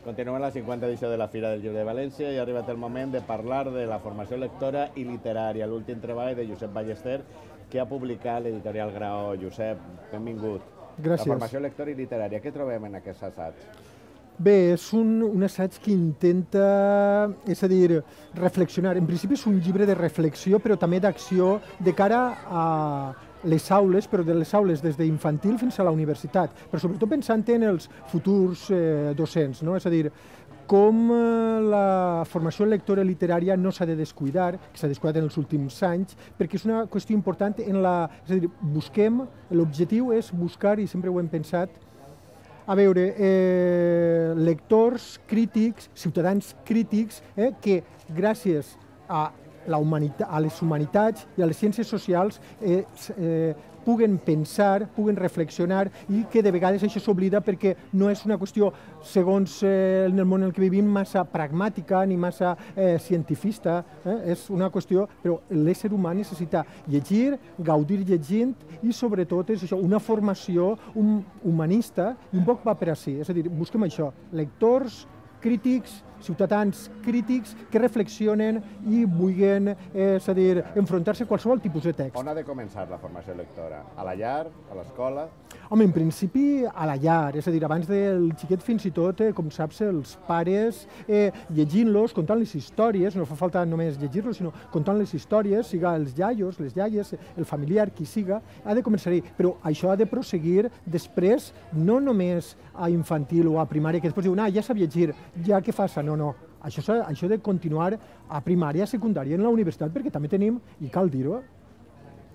Continuem la 50 edició de la Fira del Llibre de València i ha arribat el moment de parlar de la formació lectora i literària, l'últim treball de Josep Ballester, que ha publicat l'editorial Graó. Josep, benvingut. Gràcies. La formació lectora i literària, què trobem en aquest assaig? Bé, és un assaig que intenta, és a dir, reflexionar. En principi és un llibre de reflexió, però també d'acció de cara a les aules, però de les aules des d'infantil fins a la universitat, però sobretot pensant en els futurs docents, no? És a dir, com la formació lectora literària no s'ha de descuidar, que s'ha descuidat en els últims anys, perquè és una qüestió important és a dir, l'objectiu és buscar, i sempre ho hem pensat, a veure, lectors crítics, ciutadans crítics, que gràcies a les humanitats i a les ciències socials puguen pensar, puguen reflexionar i que de vegades això s'oblida perquè no és una qüestió, segons en el món en què vivim, massa pragmàtica ni massa cientifista. És una qüestió, però l'ésser humà necessita llegir, gaudir llegint i sobretot és això, una formació humanista i un poc va per ací. És a dir, busquem això, lectors crítics, ciutadans crítics que reflexionen i vulguin, és a dir, enfrontar-se a qualsevol tipus de text. On ha de començar la formació lectora? A la llar? A l'escola? Home, en principi a la llar, és a dir, abans del xiquet fins i tot, com saps, els pares llegint-los, contant-los històries, no fa falta només llegir-los, sinó contant les històries, siga els iaios, les iaies, el familiar, qui siga, ha de començar-hi, però això ha de prosseguir després, no només a infantil o a primària, que després diuen, ja sap llegir, ja què fas? No. Això ha de continuar a primària, secundària, en la universitat, perquè també tenim, i cal dir-ho,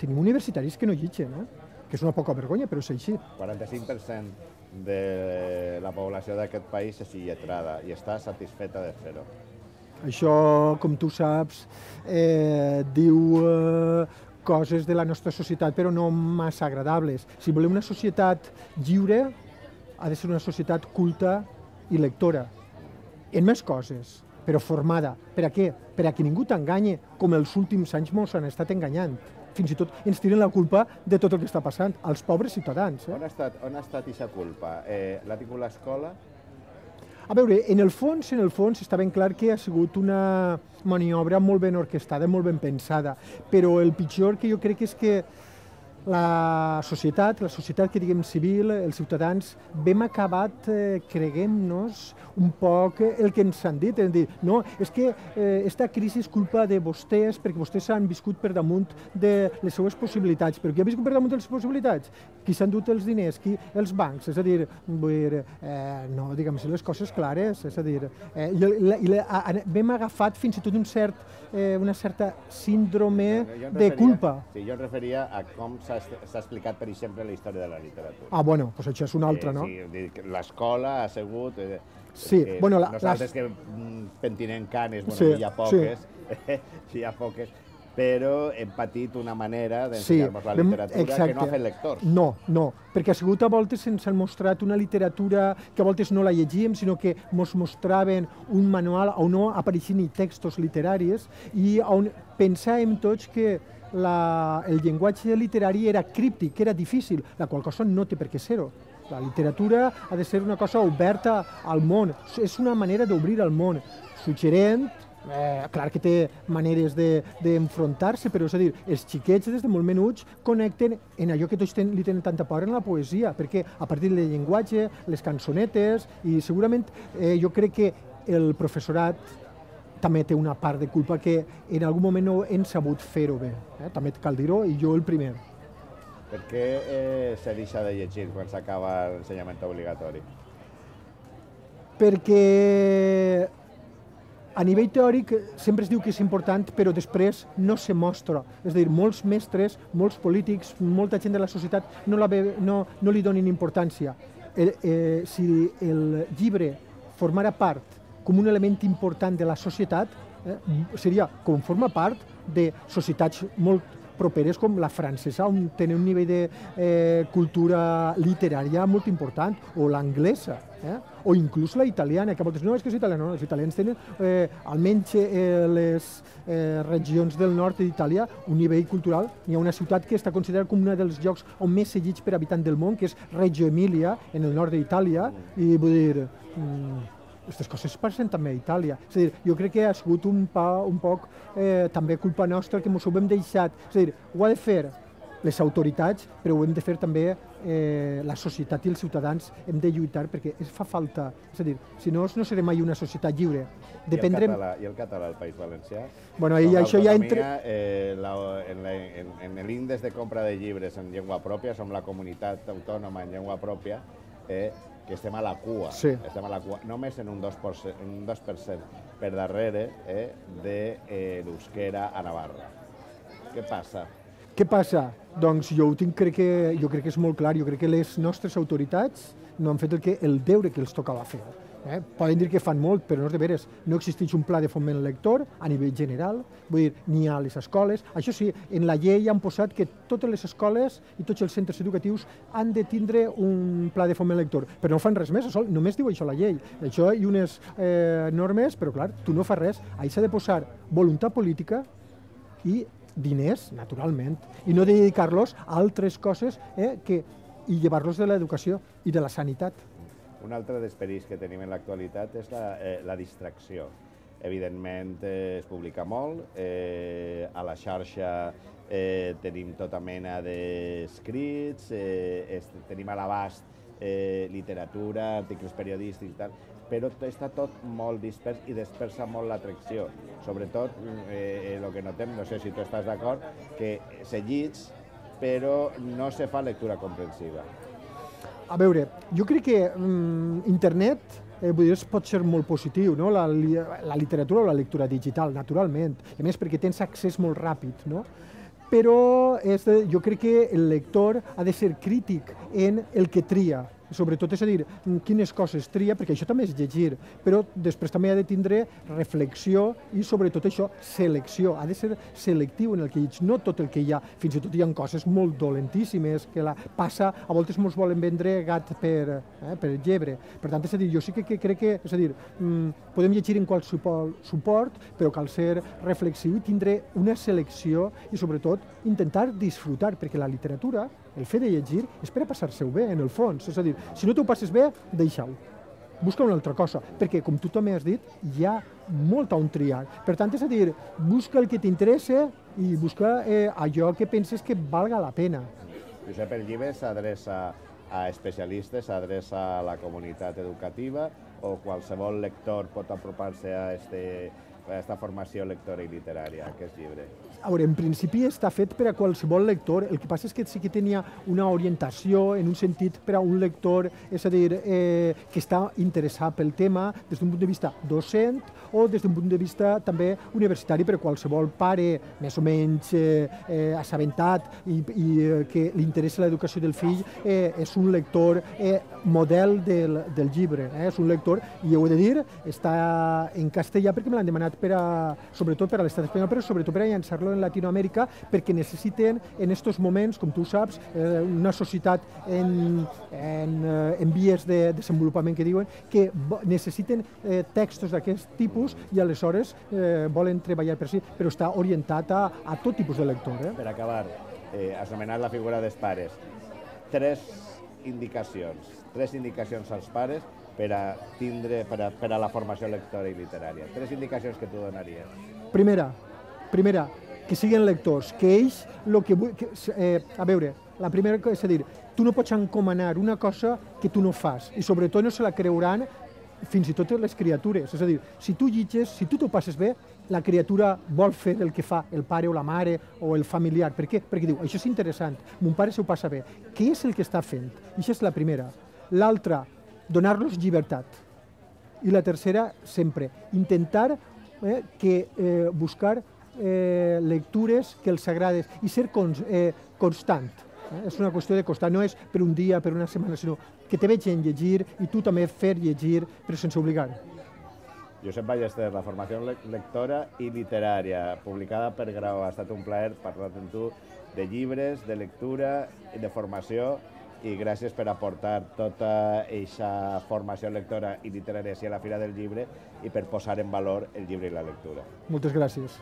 tenim universitaris que no llegeixen, que és una poca vergonya, però és així. 45% de la població d'aquest país és il·letrada i està satisfeta de fer-ho. Això, com tu saps, diu coses de la nostra societat, però no massa agradables. Si volem una societat lliure, ha de ser una societat culta i lectora. En més coses, però formada. Per a què? Per a que ningú t'enganye, com els últims anys mos han estat enganyant. Fins i tot ens tiren la culpa de tot el que està passant, als pobres ciutadans. On ha estat aquesta culpa? L'ha tingut l'escola? A veure, en el fons està ben clar que ha sigut una maniobra molt ben orquestada, molt ben pensada, però el pitjor que jo crec és que la societat que diguem civil, els ciutadans, hem acabat creguem-nos un poc el que ens han dit. És dir, no, és que aquesta crisi és culpa de vostès perquè vostès han viscut per damunt de les seues possibilitats. Però qui ha viscut per damunt de les possibilitats? Qui s'han dut els diners? Qui? Els bancs. És a dir, no, diguem-se les coses clares. És a dir, hem agafat fins i tot una certa síndrome de culpa. Sí, jo em referia a com s'ha explicat, per exemple, la història de la literatura. Bueno, doncs això és una altra, no? Sí, l'escola ha sigut... Sí, bueno... Nosaltres que pentinem canes, bueno, hi ha poques, però hem patit una manera d'ensenyar-nos la literatura que no ha fet lectors. No, perquè ha sigut a voltes ens han mostrat una literatura que a voltes no la llegíem, sinó que ens mostraven un manual on no apareixien ni textos literaris i on pensàvem tots que el llenguatge literari era críptic, que era difícil, la qual cosa no té per què ser-ho. La literatura ha de ser una cosa oberta al món, és una manera d'obrir al món, suggerent, clar que té maneres d'enfrontar-se, però és a dir, els xiquets des de molt menuts connecten en allò que tots li tenen tanta por en la poesia, perquè a partir del llenguatge, les cançonetes, i segurament jo crec que el professorat també té una part de culpa que en algun moment no hem sabut fer-ho bé. També cal dir-ho, i jo el primer. Per què se deixa de llegir quan s'acaba l'ensenyament obligatori? Perquè a nivell teòric sempre es diu que és important, però després no se mostra. És a dir, molts mestres, molts polítics, molta gent de la societat no li donin importància. Si el llibre formara part com un element important de la societat, seria com forma part de societats molt properes com la francesa, on tenen un nivell de cultura literària molt important, o l'anglesa, o inclús la italiana, que moltes no és que és italiana, no, els italians tenen, almenys les regions del nord d'Itàlia, un nivell cultural. Hi ha una ciutat que està considerada com un dels llocs on més seguits per habitant del món, que és Reggio Emilia, en el nord d'Itàlia, i vull dir, aquestes coses passen també a Itàlia. És a dir, jo crec que ha sigut un poc també culpa nostra que ens ho hem deixat. És a dir, ho ha de fer les autoritats, però ho hem de fer també la societat i els ciutadans. Hem de lluitar perquè fa falta. És a dir, si no, no serem mai una societat lliure. Dependrem... I el català al País Valencià? Bueno, això ja entre... En l'índex de compra de llibres en llengua pròpia, som la comunitat autònoma en llengua pròpia, que estem a la cua. Sí. Estem a la cua, només en un 2% per darrere de l'euskera a Navarra. Què passa? Què passa? Doncs jo crec que és molt clar. Jo crec que les nostres autoritats no han fet el deure que els tocava fer. Poden dir que fan molt, però no és de veres. No existeix un pla de foment lector a nivell general, vull dir, ni a les escoles. Això sí, en la llei han posat que totes les escoles i tots els centres educatius han de tindre un pla de foment lector, però no fan res més, només diu això la llei. Això i unes normes, però clar, tu no fas res. Ahí s'ha de posar voluntat política i diners, naturalment, i no dedicar-los a altres coses i llevar-los de l'educació i de la sanitat. Un altre dels perills que tenim en l'actualitat és la distracció. Evidentment es publica molt, a la xarxa tenim tota mena d'escrits, tenim a l'abast literatura, articles periodístics i tal, però està tot molt dispers i dispersa molt l'atracció. Sobretot, el que notem, no sé si tu estàs d'acord, que se llig, però no se fa lectura comprensiva. A veure, jo crec que internet pot ser molt positiu, no? La literatura o la lectura digital, naturalment, a més perquè tens accés molt ràpid, no? Però jo crec que el lector ha de ser crític en el que tria, sobretot, és a dir, quines coses tria, perquè això també és llegir, però després també ha de tindre reflexió i sobretot això, selecció, ha de ser selectiu en el que llegeix, no tot el que hi ha, fins i tot hi ha coses molt dolentíssimes que la passa, a voltes ens volen vendre gat per llebre. Per tant, és a dir, jo sí que crec que, és a dir, podem llegir en qualsevol suport, però cal ser reflexiu i tindre una selecció i sobretot intentar disfrutar, perquè la literatura, el fet de llegir, és per a passar-se-ho bé, en el fons. És a dir, si no t'ho passes bé, deixa-ho. Busca una altra cosa, perquè, com tu també has dit, hi ha molt on triar. Per tant, és a dir, busca el que t'interessa i busca allò que penses que valga la pena. Josep, el llibre s'adreça a especialistes, s'adreça a la comunitat educativa o qualsevol lector pot apropar-se a aquesta formació lectora i literària, aquest llibre? A veure, en principi està fet per a qualsevol lector, el que passa és que sí que tenia una orientació en un sentit per a un lector, és a dir, que està interessat pel tema des d'un punt de vista docent o des d'un punt de vista també universitari per a qualsevol pare més o menys assabentat i que li interessa l'educació del fill, és un lector model del llibre, és un lector, i ho he de dir, està en castellà perquè me l'han demanat sobretot per a l'estat espanyol, però sobretot per a llançar-lo en Latinoamèrica, perquè necessiten en aquests moments, com tu saps, una societat en vies de desenvolupament que diuen, que necessiten textos d'aquest tipus i aleshores volen treballar per si, però està orientat a tot tipus de lector. Per acabar, has nomenat la figura dels pares. Tres indicacions als pares per a la formació lectora i literària. Tres indicacions que tu donaries. Primera, que siguin lectors, que ells a veure, la primera és a dir, tu no pots encomanar una cosa que tu no fas i sobretot no se la creuran fins i tot les criatures. És a dir, si tu llitges, si tu t'ho passes bé, la criatura vol fer el que fa el pare o la mare o el familiar. Per què? Perquè diu, això és interessant, mon pare s'ho passa bé. Què és el que està fent? Això és la primera. L'altra, donar-los llibertat. I la tercera, sempre, intentar buscar lectures que els agrades i ser constant. És una qüestió de constant, no és per un dia, per una setmana, sinó que te vegin llegir i tu també fer llegir, però sense obligar. Josep Ballester, la formació lectora i literària, publicada per Grau. Ha estat un plaer parlar amb tu de llibres, de lectura i de formació, i gràcies per aportar tota aquesta formació lectora i literària a la Fira del Llibre i per posar en valor el llibre i la lectura. Moltes gràcies.